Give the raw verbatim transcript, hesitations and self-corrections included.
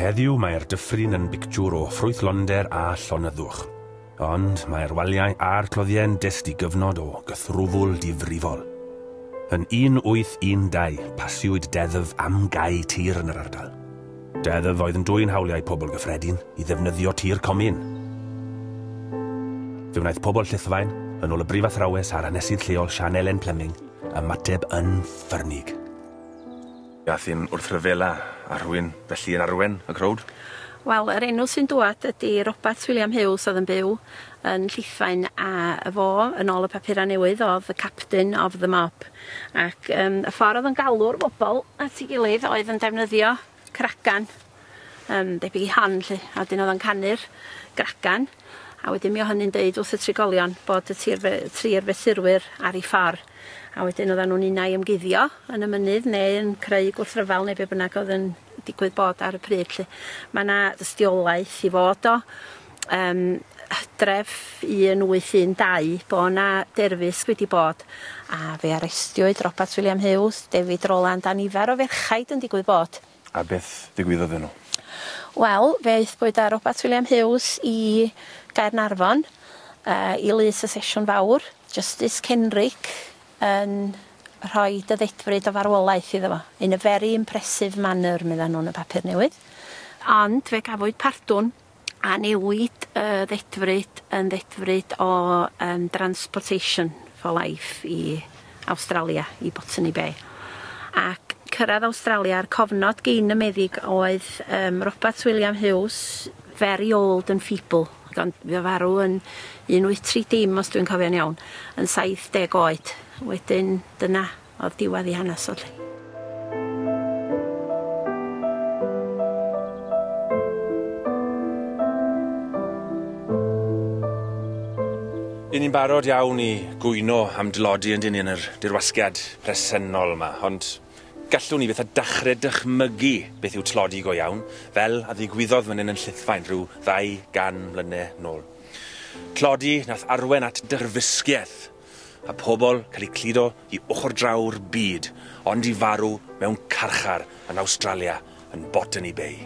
Heddiw mae'r dyffryn yn bictiwr o ffrwythlonder a llonyddwch. Ond mae'r waliau a'r cloddiau'n dyst i gyfnod o gythrwfwl difrifol. Yn un wyth un dau, pasiwyd deddf am gau tir yn yr ardal. Deddf oedd yn dwyn hawliau pobl gyffredin i ddefnyddio tir comin. Fe wnaeth pobl Llithfaen, yn ôl y brifathrawes a'r hanesydd lleol Sian Elen Pleming, ymateb yn ffyrnig. Ath hi'n wrthryfela a rhywun felly yn arwen y crowd? Wel, yr enw sy'n dŵad ydy Robert William Hughes oedd yn byw yn Llithfaen, a fo, yn ôl y papurau newydd, oedd the captain of the mob. Ac um, y ffordd oedd yn galw'r bobl at ei gilydd oedd yn defnyddio cragan, um, debyg i hon, lle, a wedyn oedd yn canu'r gragan, a wedyn mi o hynny'n deud wrth y trigolion bod y tri'r fesurwyr ar ei ffordd. A wedyn oedden nhw'n unai ymguddio yn y mynydd neu yn creu gwrthryfel neu be bynnag oedd yn digwydd bod ar y pryd. Lle. Mae yna dystiolaeth i fod o um, hydref un wyth un dau bod yna derfysg wedi bod, a fe arestiwyd Robert William Hughes, David Roland a nifer o ferchaid yn digwydd bod. A beth ddigwyddodd nhw? Wel, fe aethpwyd â Robert William Hughes i Gaernarfon, uh, i lys y sesiwn fawr, Justice Kenrick yn rhoi dy ddedfryd o farwolaeth iddo fo. In a very impressive manner, medda nhw'n y papur newydd. Ond fe gafwyd pardwn a newid y ddedfryd yn ddedfryd o um, transportation for life i Awstralia, i Botany Bay. Ac cyrraedd Awstralia, a'r cofnod gyn y meddyg oedd um, Robert William Hughes, very old and feeble. Ond fe farw yn un wyth tri dim, os dwi'n cofio'n iawn, yn saith deg oed. Wedyn dyna oedd diwedd ei hanes o lle. Y'n ni'n barod iawn i gwyno am dlodi yn dyn ni yn yr dirwasgiad presennol yma, ond gallwn ni beth a dechrau dychmygu beth yw tlodi go iawn, fel a ddigwyddodd fan hyn yn Llithfaen rhyw ddau gan mlynedd nôl. Tlodi nath arwen at derfysgiaeth, a pobl cael eu cludo i ochr draw'r byd, ond i farw mewn carchar yn Awstralia, yn Botany Bay.